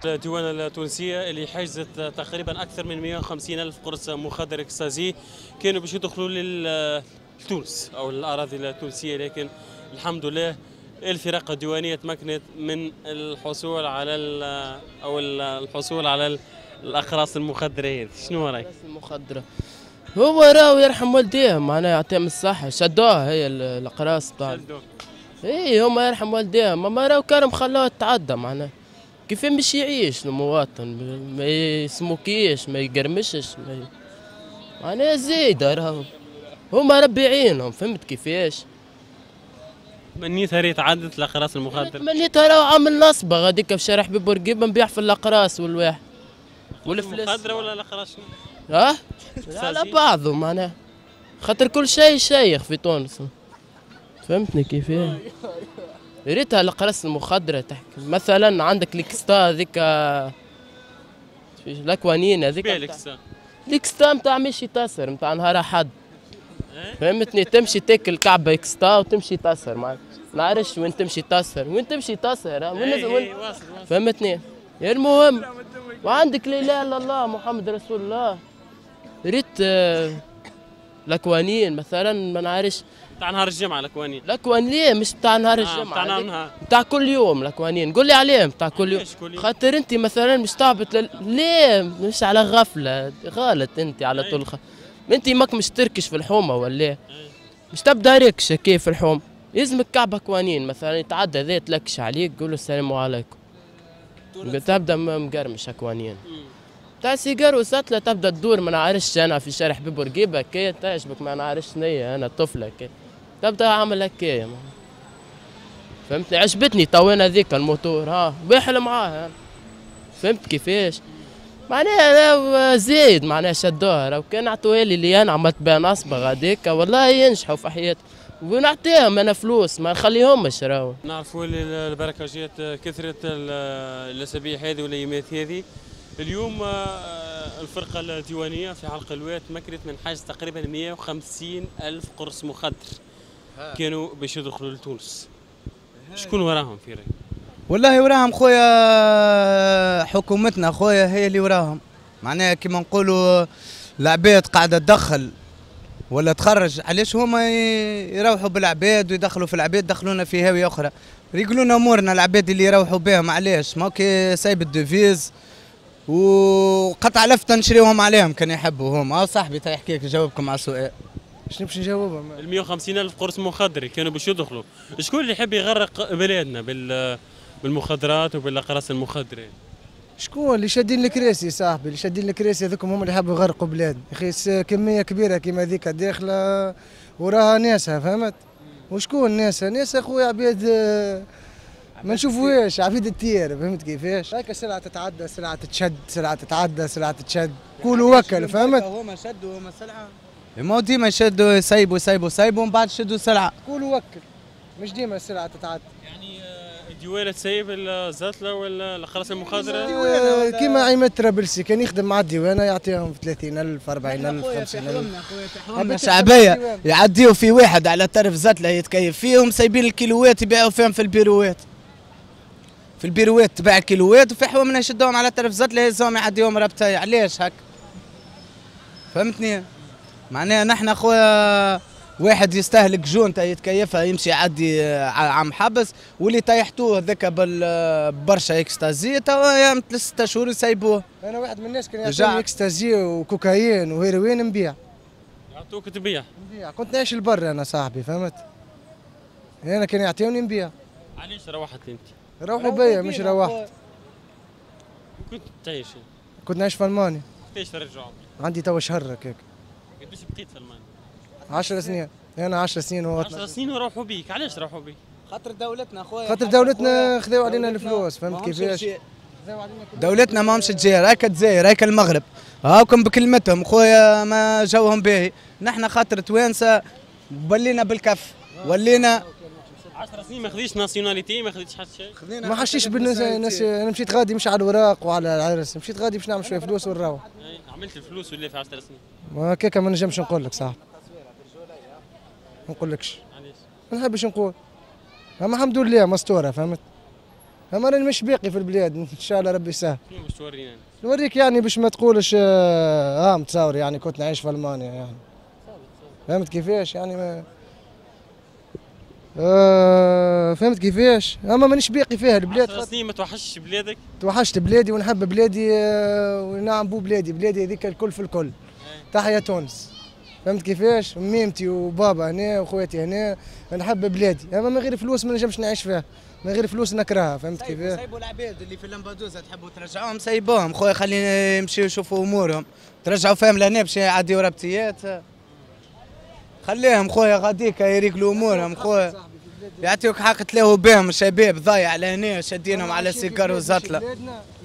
الديوانة التونسية اللي حجزت تقريبا أكثر من 150 ألف قرص مخدر اكستازي كانوا باش يدخلوا لتونس أو الأراضي التونسية، لكن الحمد لله الفرق الديوانية تمكنت من الحصول على أو الحصول على الأقراص المخدرة هذه. شنو رأيك؟ المخدرة هو راهو يرحم والديهم، معناها يعطيهم الصحة، شدوها هي الأقراص تاع اي هما يرحم والديهم، ما راهو كانوا خلوها تتعدى، معناها كيف باش يعيش المواطن؟ ما يسموكيش، ما يقرمشش، معناها زايدة راهو هما ربي يعينهم، فهمت كيفاش؟ تمنيتها ريت عدت الأقراص المخدرة؟ تمنيتها راهو عامل نصبة غاديك في شارع حبيب بورقيبة نبيع في الأقراص والواحد والفلوس. المخدرة ولا الأقراص؟ ها؟ على بعضه معناها، خاطر كل شيء شيخ في تونس، فهمتني كيفاش؟ ريتها الأقراص المخدرة تحكي مثلا عندك الإكستا هذيك، الأكوانين هذيك، الإكستا نتاع مشي تسر نتاع نهار أحد، فهمتني؟ تمشي تاكل كعبة إكستا وتمشي تسر، ما نعرفش وين تمشي تسر، وين تمشي تسر، وين فهمتني؟ المهم وعندك لا إله إلا الله محمد رسول الله. ريت الأكوانين مثلا، ما نعرفش تاع نهار الجمعة الأكوانين. الأكوانين مش تاع نهار الجمعة، تاع نهار تاع كل يوم الأكوانين، قول لي عليهم تاع كل يوم، خاطر أنت مثلا مش تعبط ليه مش على غفلة، غلط أنت على طول أنت ماك مش تركش في الحومة ولا مش تبدا ركشة كيف في الحوم، يلزمك كعبة أكوانين مثلا يتعدى ذا تلكش عليك قول له السلام عليكم، تبدا مقرمش أكوانين. تاع سيجار وسطلة تبدا تدور، ما نعرفش انا في شارع حبيب بورقيبة كي تعجبك، ما نعرفش شنيا انا طفله كي تبدا عامل هكايا، فهمتني؟ عجبتني تو هذيك الموتور، ها واحل معاها، فهمت كيفاش؟ معناها زايد، معناها شدوها، لو كان عطوها لي اللي انا عملت بها نصبه غاديك والله ينجحوا في حياتهم، ونعطيهم انا فلوس ما نخليهمش. راهو نعرفوا البركاجات كثرت الاسابيع هذه والايامات هذه. اليوم الفرقة الديوانية في حلق الواد تمكنت من حجز تقريبا 150 ألف قرص مخدر كانوا باش يدخلوا لتونس. شكون وراهم في رأيك؟ والله وراهم خويا حكومتنا، خويا هي اللي وراهم، معناها كيما نقولوا العباد قاعدة تدخل ولا تخرج، علاش هما يروحوا بالعباد ويدخلوا في العباد، دخلونا في هاوية أخرى، ريقلونا أمورنا العباد اللي يروحوا بهم، علاش؟ ما كي سايب ال devise وقطع لفته نشريوهم عليهم كان يحبوا هما. صاحبي تا يحكي لك يجاوبكم على السؤال. شنو باش نجاوبهم؟ ال 150 ألف قرص مخدر كانوا باش يدخلوا، شكون اللي يحب يغرق بلادنا بالمخدرات وبالاقراص المخدره؟ شكون اللي شادين الكراسي صاحبي؟ اللي شادين الكراسي هذوكم هما اللي يحبوا يغرقوا بلادنا، يا اخي كمية كبيرة كيما هذيك داخله وراها ناسها، فهمت؟ وشكون ناسها؟ ناسها خويا عباد ما نشوفوهاش، عبيد التيار، فهمت كيفاش؟ هكا سلعة تتعدى، سلعة تتشد، سلعة تتعدى، سلعة تتشد، كلوا وكل، فهمت؟ هما شدوا هما سلعة، ما ديما يشدوا يسيبوا يسيبوا يسيبوا ومن بعد شدوا سلعة. كلوا وكل، مش ديما السلعة تتعدى. يعني الديوانة تسيب الزتلة ولا الأقراص المخدرة؟ كيما عماد طرابلسي كان يخدم مع الديوانة يعطيهم 30000 40000 50000. شعبية يعديوا في واحد على طرف زتلة يتكيف فيهم، سايبين الكيلوات يبيعوا فيهم في البيروات. في البيروات تباع كيلوات وفي حوامنا يشدوهم على طرف زتلة يهزوهم يعديهم ربطاي، علاش هكا؟ فهمتني؟ معناها نحن خويا واحد يستهلك جونتا يتكيفها يمشي يعدي عام حبس، واللي طيحتوه هذاك برشا اكستازي توا 6 شهور يسيبوه. انا واحد من الناس كان يعطوني اكستازي وكوكايين وهيروين نبيع. يعطوك تبيع؟ نبيع، كنت نعيش البر انا صاحبي، فهمت؟ انا كان يعطيوني نبيع. علاش روحت انت؟ روحوا بيا مش روحت. كنت تعيش؟ كنت نعيش في المانيا. كيفاش ترجعوا؟ عندي توا شهر هكاك. قداش بقيت في المانيا؟ 10 سنين، انا 10 سنين و 10 سنين وروحوا بيك، علاش روحوا بيك؟ خاطر دولتنا خويا، خاطر دولتنا خذاو علينا الفلوس، فهمت كيفاش؟ دولتنا ما همش تجير، هاك الجزائر هاك المغرب، هاكم بكلمتهم خويا ما جوهم باهي، نحن خاطر توانسة ولينا بالكف، ولينا 10 سنين ما خذيتش nationalité، ما خذيتش حتى شيء. ما حشيش بالناس، انا مشيت غادي مش على الوراق وعلى العرس، مشيت غادي باش نعمل شوية فلوس ونروح. عملت الفلوس ولا في 10 سنين؟ ما هكاك ما نجمش نقول لك صاحبي. ما نقولكش. علاش؟ ما نحبش نقول. اما الحمد لله مستورة، فهمت؟ اما راني مش باقي في البلاد ان شاء الله ربي يسهل. شنو باش تورينا؟ نوريك يعني باش ما تقولش متصور يعني كنت نعيش في المانيا يعني. فهمت كيفاش يعني ما فهمت كيفاش؟ اما مانيش باقي فيها البلاد. 10 سنين ما توحشتش بلادك؟ توحشت بلادي ونحب بلادي ونعم بو بلادي، بلادي هذيك الكل في الكل. تحيا تونس. فهمت كيفاش؟ ميمتي وبابا هنا وخواتي هنا، نحب بلادي، اما من غير فلوس ما نجمش نعيش فيها، من غير فلوس نكرهها، فهمت كيفاش؟ سيبوا العباد اللي في لامبادوزا تحبوا ترجعوهم سيبوهم خويا، خلينا يمشيو يشوفوا امورهم، ترجعوا فيهم لهنا باش يعديوا ربطيات. خليهم خويا غاديك يريقلوا امورهم خويا، يعطيوك حق تلاهوا بهم الشباب ضايع لهنا شادينهم على سيكار وزطله.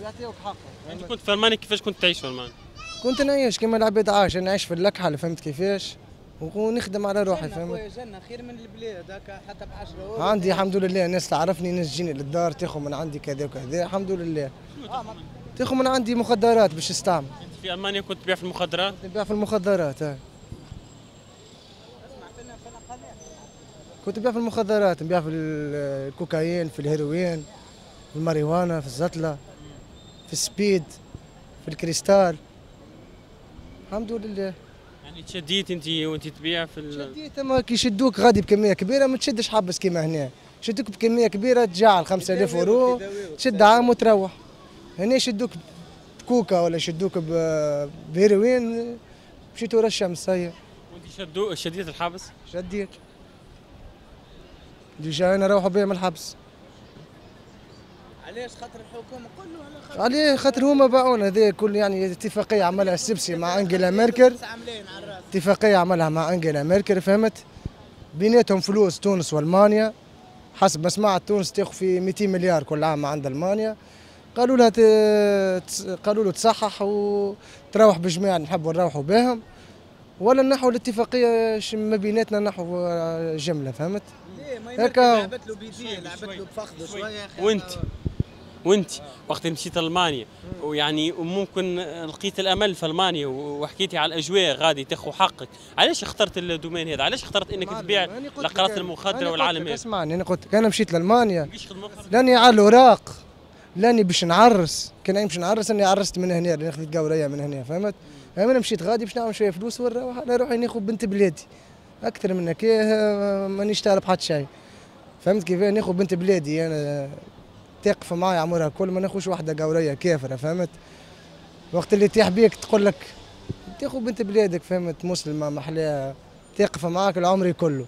يعطيوك حق. انت كنت في المانيا كيفاش كنت تعيش في المانيا؟ كنت نعيش كما العباد عايش، نعيش في اللكحه فهمت كيفاش؟ ونخدم على روحي فهمت؟ جنة خير من البلاد هكا حتى ب 10 اورو. عندي الحمد لله ناس تعرفني، ناس تجيني للدار تاخذ من عندي كذا وكذا، الحمد لله. تاخذ من عندي مخدرات باش تستعمل. انت في المانيا كنت تبيع في المخدرات؟ كنت نبيع في المخدرات. كنت نبيع في المخدرات، نبيع في الكوكايين، في الهيروين، في الماريجوانا، في الزطله، في السبيد، في الكريستال. الحمد لله. يعني تشديت انت وانت تبيع في شديت، اما كي يشدوك غادي بكمية كبيرة ما تشدش حبس كيما هنا، يشدوك بكمية كبيرة تجعل 5000 اورو تشد عام وتروح. هنا يشدوك بكوكا ولا يشدوك بهيروين مشيت ورا الشمس هي. وانت شديت الحبس؟ شديت. déjà انا روحوا بيا من الحبس. علاش؟ خاطر الحكومة قول له على خاطر عليه، خاطر هما باعونا. هذا كل يعني اتفاقية عملها السبسي مع انجيلا ميركل، اتفاقية عملها مع انجيلا ميركل فهمت؟ بيناتهم فلوس تونس والمانيا، حسب ما سمعت تونس تاخذ في 200 مليار كل عام عند المانيا. قالوا لها قالوا له تصحح وتروح بجماعة نحبوا نروحوا بهم، ولا نحو الاتفاقية ما بيناتنا نحو جملة فهمت؟ ليه ما لعبت له بيديه، لعبت له بفخذه شوية. وانت وقت مشيت المانيا ويعني وممكن لقيت الامل في المانيا وحكيتي على الاجواء غادي تاخذ حقك، علاش اخترت ال domaine هذا؟ علاش اخترت انك تبيع الاقراص المخدره والعالم هذا؟ اسمعني، انا قلت لك انا مشيت لالمانيا لاني على الاوراق، لاني باش نعرس، كان باش نعرس اني عرست من هنا، لاني خذيت قوريه من هنا فهمت؟ انا مشيت غادي باش نعمل شوية فلوس ونروح على روحي ناخذ بنت بلادي، اكثر من هكا مانيش تعرف حتى شيء فهمت كيف؟ ناخذ بنت بلادي انا تقف معايا عمرها كل، ما ناخذش واحدة قوريه كافره فهمت؟ وقت اللي تيح بيك تقول لك تاخذ بنت بلادك فهمت؟ مسلمة محلاها تقف معاك العمر كله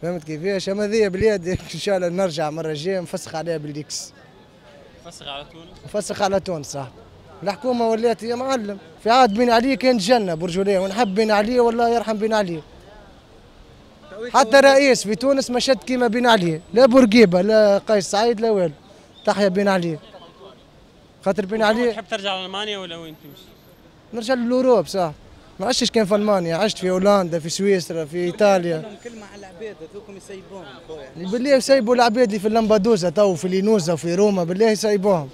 فهمت كيفاش؟ اما ذي بلادي ان شاء الله نرجع مرة الجاية نفسخ عليها بالليكس. نفسخ على تونس؟ نفسخ على تونس صح. الحكومة ولات يا معلم في عاد بين علي كان جنة برجولية، ونحب بين علي والله يرحم بين علي. حتى رئيس في تونس ما شد كيما بين علي، لا بورقيبة لا قيس سعيد لا والو، تحيا بين علي. خاطر بين علي. تحب ترجع لالمانيا ولا وين تمشي؟ نرجع لل Europe صح، ما عشتش كان في المانيا، عشت في هولندا، في سويسرا، في ايطاليا. كلمة على العباد هذوكم يسيبوهم خويا. بالله يسيبوا العباد اللي في اللامبادوزا تو في لينوزا وفي روما، بالله يسيبوهم.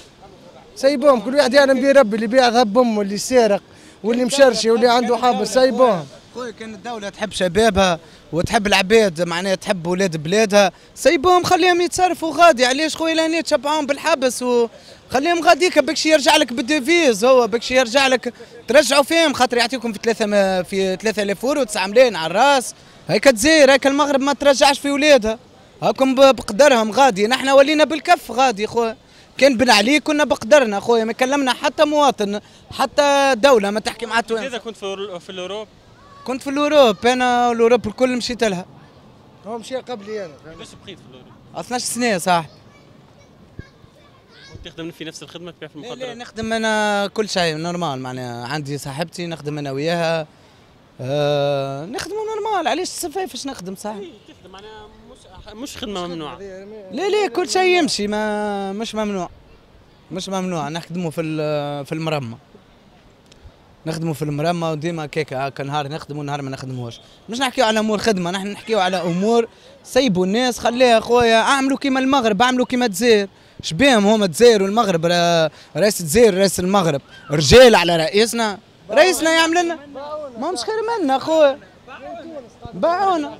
سيبوهم كل واحد يعلم به ربي، اللي بيع ذهب امه واللي سارق واللي مشرشي واللي عنده حبس سيبوهم. خويا كان الدولة تحب شبابها وتحب العباد معناها تحب ولاد بلادها، سيبوهم خليهم يتصرفوا غادي، علاش خويا لهنا تشبعوهم بالحبس وخليهم غاديك باش يرجع لك بال devise، هو باش يرجع لك ترجعوا فيهم خاطر يعطيكم في 3000 اورو 9 ملايين على الراس، هيك الجزائر هيك المغرب ما ترجعش في ولادها، هاكم بقدرهم غادي، نحن ولينا بالكف غادي خويا. كان بن علي كنا بقدرنا خويا، ما كلمنا حتى مواطن حتى دولة ما تحكي مع تونس. إذا كنت في l'Europe؟ كنت في l'Europe، أنا l'Europe الكل مشيت لها. هو مشى قبلي أنا. كيفاش بقيت في l'Europe؟ 12 سنة صاحبي. كنت تخدم في نفس الخدمة تبيع في المخدرات؟ لا نخدم أنا كل شيء normal، معناها عندي صاحبتي نخدم أنا وياها، نخدموا normal، علاش فاش نخدم صاحبي؟ تخدم معناها مش خدمة ممنوعة. لا لا كل شيء يمشي، ما مش ممنوع، مش ممنوع، نخدموا في المرمى. نخدموا في المرمى وديما كيكا هكا نهار نخدموا نهار ما نخدموش. مش نحكيو على امور خدمة، نحن نحكيو على امور سيبوا الناس خليها خويا، اعملوا كيما المغرب، اعملوا كيما الجزائر، شبيهم هما الجزائر والمغرب، رئيس الجزائر رئيس المغرب، رجال على رئيسنا، رئيسنا يعمل لنا ماهمش خير منا خويا، باعونا.